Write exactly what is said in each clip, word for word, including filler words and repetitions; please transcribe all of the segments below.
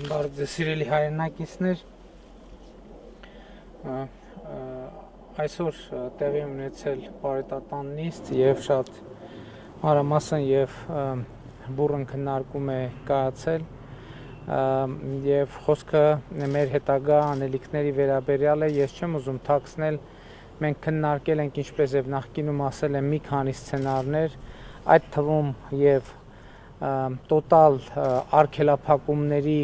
Բարև ձեզ սիրելի հայրենակիցներ, այսօր տեղի ունեցել պարետատան նիստ եւ շատ մանրամասն եւ բուռն քննարկում է կայացել եւ խոսքը մեր հետագա անելիքների վերաբերյալ է։ Ես չեմ ուզում թաքցնել, մենք քննարկել ենք, ինչպես եւ նախկինում ասել եմ, մի քանի սցենարներ, այդ թվում եւ տոտալ արգելափակումների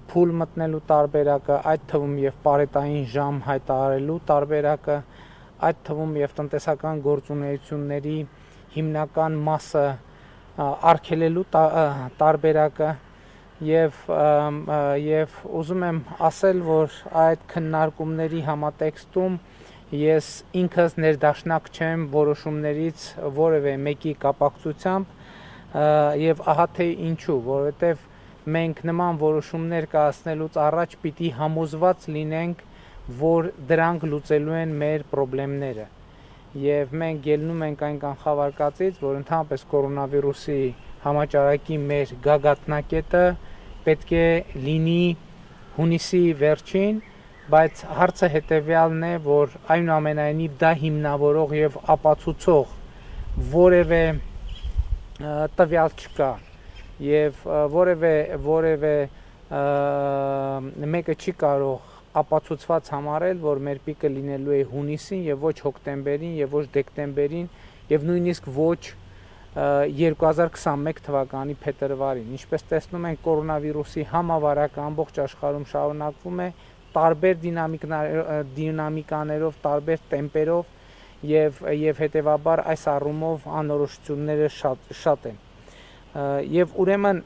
փուլ մտնելու տարբերակը, այդ թվում եւ պարետային ժամ հայտարարելու տարբերակը, այդ թվում եւ տնտեսական գործունեությունների հիմնական մասը արգելելու տարբերակը եւ եւ ուզում եմ ասել, որ այդ քննարկումների համատեքստում ես ինքս ներդաշնակ չեմ որոշումներից որևէ մեկի կապակցությամբ եւ ահա թե ինչու, որովհետեւ մենք նման որոշումներ կայացնելուց առաջ պիտի համոզված լինենք, որ դրանք լուծելու են մեր խնդիրները եւ մենք ելնում ենք այն կանխավարկածից, որ ընդհանրապես կորոնավիրուսի համաճարակի մեր գագաթնակետը պետք է լինի հունիսի վերջին, բայց հարցը հետեւյալն է, որ այնուամենայնիվ դա հիմնավորող եւ ապացուցող որևէ տվյալ չկա եւ որևէ որևէ մեկը չի կարող ապացուցված համարել, որ մեր պիկը լինելու է հունիսին եւ ոչ հոկտեմբերին եւ ոչ դեկտեմբերին եւ նույնիսկ ոչ երկու հազար քսանմեկ թվականի փետրվարին։ Ինչպես տեսնում ենք, կորոնավիրուսի համավարակը ամբողջ աշխարհում շարունակվում է տարբեր դինամիկաներով, տարբեր տեմպերով եւ եւ հետեւաբար այս առումով անորոշությունները շատ շատ են։ Եվ ուրեմն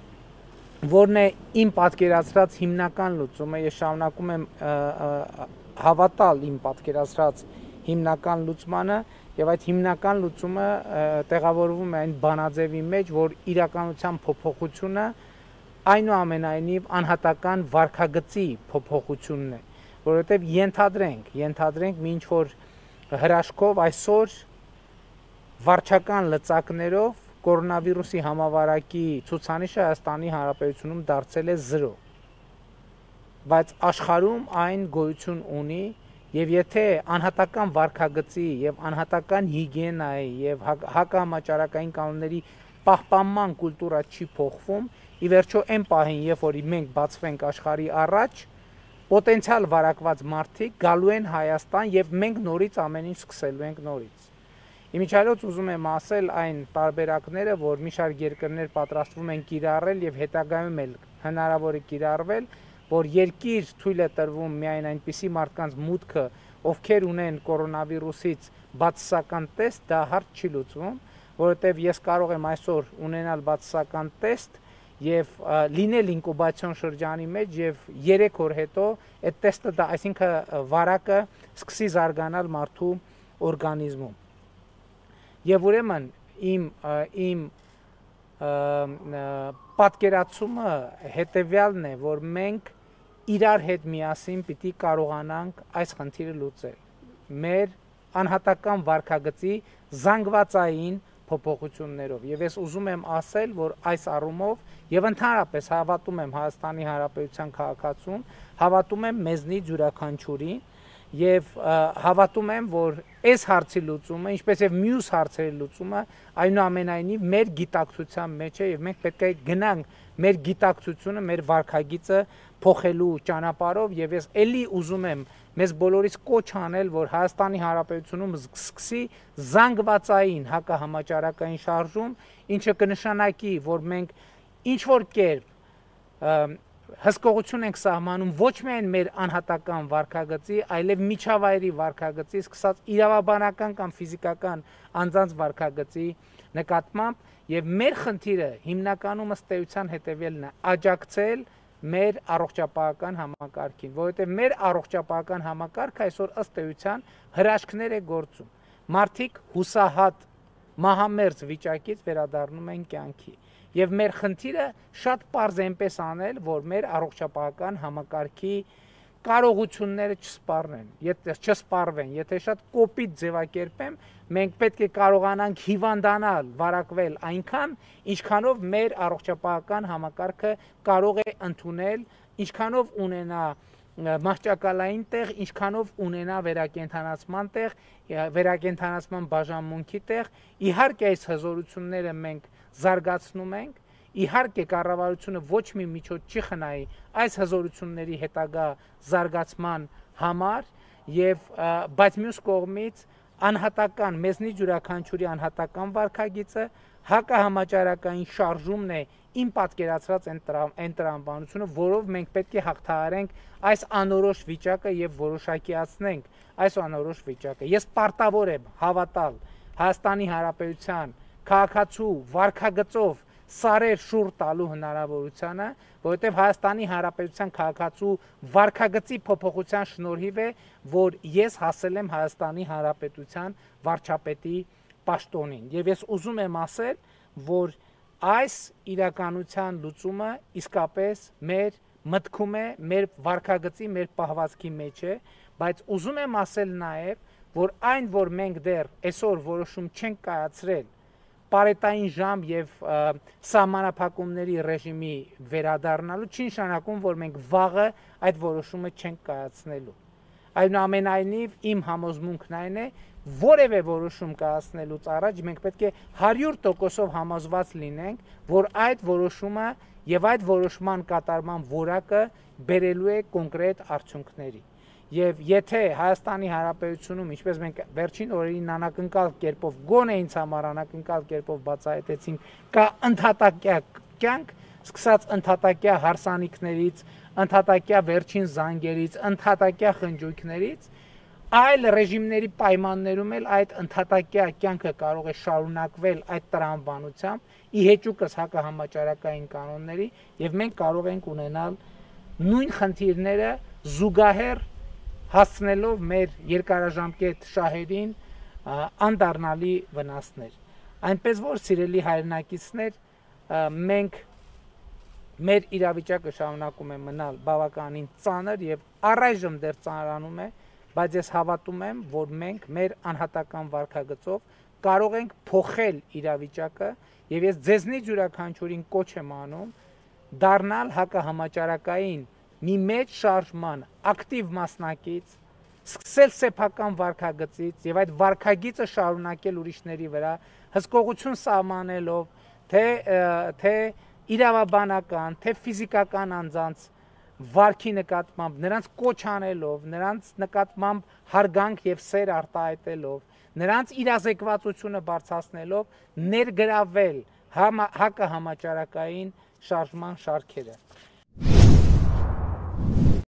որն է իմ պատկերացրած հիմնական լուծումը, ես շարունակում եմ հավատալ իմ պատկերացրած հիմնական լուծմանը եւ այդ հիմնական լուծումը տեղավորվում է այն բանաձևի մեջ, որ իրականության փոփոխությունը այնուամենայնիվ անհատական վարքագծի փոփոխությունն է, որովհետեւ ենթադրենք, ենթադրենք մի ինչ-որ հրաշքով այսօր վարչական լծակներով կորոնավիրուսի համավարակի ցուցանիշը Հայաստանի Հանրապետությունում դարձել է զրո, բայց աշխարհում այն գոյություն ունի եւ եթե անհատական վարքագծի եւ անհատական հիգիենայի եւ հակահամաճարակային կանոնների պահպանման կուլտուրա չի փոխվում, ի վերջո այն պահին, երբ որ մենք բացվենք աշխարհի առաջ, պոտենցիալ վարակված մարդիկ գալու են Հայաստան եւ մենք նորից ամեն ինչ սկսելու ենք նորից։ Իմիջիայլոց ուզում եմ ասել այն տարբերակները, որ մի շարք երկրներ պատրաստվում են կիրառել եւ հետագայում էլ հնարավոր է կիրառվել, որ երկիր թույլ է տրվում միայն այնպիսի մարդկանց մուտքը, ովքեր ունեն կորոնավիրուսից բացասական տեստ, դա հարց չի լուծվում, որովհետեւ ես կարող եմ այսօր ունենալ բացասական տեստ եւ լինել ինկուբացիոն շրջանի մեջ եւ երեք օր հետո այդ տեստը դա, այսինքն վարակը սկսի զարգանալ մարդու օրգանիզմում։ Եվ ուրեմն իմ իմ պատկերացումը հետեւյալն է, որ մենք իրար հետ միասին պիտի կարողանանք այս խնդիրը լուծել։ Մեր անհատական վարքագծի զանգվածային փոփոխություններով եւ ես ուզում եմ ասել, որ այս առումով եւ ընդհանրապես հավատում եմ Հայաստանի Հանրապետության քաղաքացուն, հավատում եմ մեզնից յուրաքանչյուրին եւ հավատում եմ, որ այս հարցի լուծումը, ինչպես եւ մյուս հարցերի լուծումը այնուամենայնիվ մեր գիտակցության մեջ է եւ մենք պետք է գնանք մեր գիտակցությունը, մեր վարքագիծը փոխելու ճանապարհով եւ ես էլի ուզում եմ մեզ բոլորիս կոչ անել, որ Հայաստանի Հանրապետությունում սկսի զանգվածային հակահամաճարակային շարժում, ինչը կնշանակի, որ մենք ինչ որ կերպ հսկողություն ենք սահմանում ոչ միայն մեր անհատական վարքագծի, այլև միջավայրի վարքագծի, սկսած իրավաբանական կամ ֆիզիկական անձանց վարքագծի նկատմամբ եւ մեր խնդիրը հիմնականում ըստ էության հետեւյալն է՝ աջակցել մեր առողջապահական համակարգին, որովհետեւ մեր առողջապահական համակարգը այսօր ըստ էության հրաշքներ է գործում։ Մարդիկ հուսահատ մահամերձ վիճակից վերադառնում են կյանքի։ Եվ մեր խնդիրը շատ պարզ է այնպես անել, որ մեր առողջապահական համակարգի կարողությունները չսպառնեն, եթե չսպառվեն, եթե շատ կոպիտ ձևակերպեմ, մենք պետք է կարողանանք հիվանդանալ, վարակվել այնքան, ինչքանով մեր առողջապահական համակարգը կարող է ընդունել, ինչքանով ունենա մահճակալային տեղ, ինչքանով ունենա վերակենդանացման տեղ, վերակենդանացման բաժանմունքի տեղ, իհարկե այս հզորությունները մենք զարգացնում ենք, իհարկե կառավարությունը ոչ մի միջոց չի խնայի այս հզորությունների հետագա զարգացման համար եւ բայց մյուս կողմից անհատական մեզնից յուրաքանչյուրի անհատական վարքագիծը հակահամաճարակային շարժումն է իմ պատկերացրած այն տրամաբանությունը, որով մենք պետք է հաղթահարենք այս անորոշ վիճակը եւ որոշակիացնենք այս անորոշ վիճակը։ Ես պարտավոր եմ հավատալ Հայաստանի Հանրապետության քաղաքացու վարքագծով սարեր շուռ տալու հնարավորությանը, որովհետև Հայաստանի Հանրապետության քաղաքացու վարքագծի փոփոխության շնորհիվ է, որ ես հասել եմ Հայաստանի Հանրապետության վարչապետի պաշտոնին։ Եվ ես ուզում եմ ասել, որ այս իրականության լուծումը իսկապես մեր մտքում է, մեր վարքագծի, մեր պահվածքի մեջ է, բայց ուզում եմ ասել նաև, որ այն, որ մենք դեռ այսօր որոշում չենք կայացրել պարետային ժամ եւ սահմանափակումների ռեժիմի վերադառնալու, չի նշանակում, որ մենք վաղը այդ որոշումը չենք կայացնելու։ Այնուամենայնիվ իմ համոզմունքն այն է, որևէ որոշում կայացնելուց առաջ մենք պետք է հարյուր տոկոսով համոզված լինենք, որ այդ որոշումը եւ այդ որոշման կատարման որակը բերելու է կոնկրետ արդյունքների։ Եվ եթե Հայաստանի Հանրապետությունում, ինչպես մենք վերջին օրերին անակնկալ կերպով, գոնե ինձ համար անակնկալ կերպով բացահայտեցինք, կա ընդհատակյա կյանք, սկսած ընդհատակյա հարսանիքներից, ընդհատակյա վերջին զանգերից, ընդհատակյա խնջույքներից, այլ ռեժիմների պայմաններում էլ այդ ընդհատակյա կյանքը կարող է շարունակվել այդ տրամաբանությամբ, ի հեճուկս հակահամաճարակային կանոնների, եւ մենք կարող ենք ունենալ նույն խնդիրները զուգահեռ հասցնելով մեր երկարաժամկետ շահերին անդառնալի վնասներ։ Այնպես որ սիրելի հայրենակիցներ, մենք մեր իրավիճակը շարունակում է մնալ բավականին ծանր եւ առայժմ դեռ ծանրանում է, բայց ես հավատում եմ, որ մենք մեր անհատական վարքագծով կարող ենք փոխել իրավիճակը եւ ես ձեզնից յուրաքանչյուրին կոչ եմ անում դառնալ հակահամաճարակային մի մեծ շարժման ակտիվ մասնակից, սկսել սեփական վարքագծից եւ այդ վարքագիծը շարունակել ուրիշների վրա, հսկողություն սահմանելով, թե թե իրավաբանական, թե ֆիզիկական անձանց վարքի նկատմամբ, նրանց կոչ անելով, նրանց նկատմամբ հարգանք եւ սեր արտահայտելով, նրանց իրազեկվածությունը բարձրացնելով, ներգրավել հակահամաճարակային շարժման շարքերը։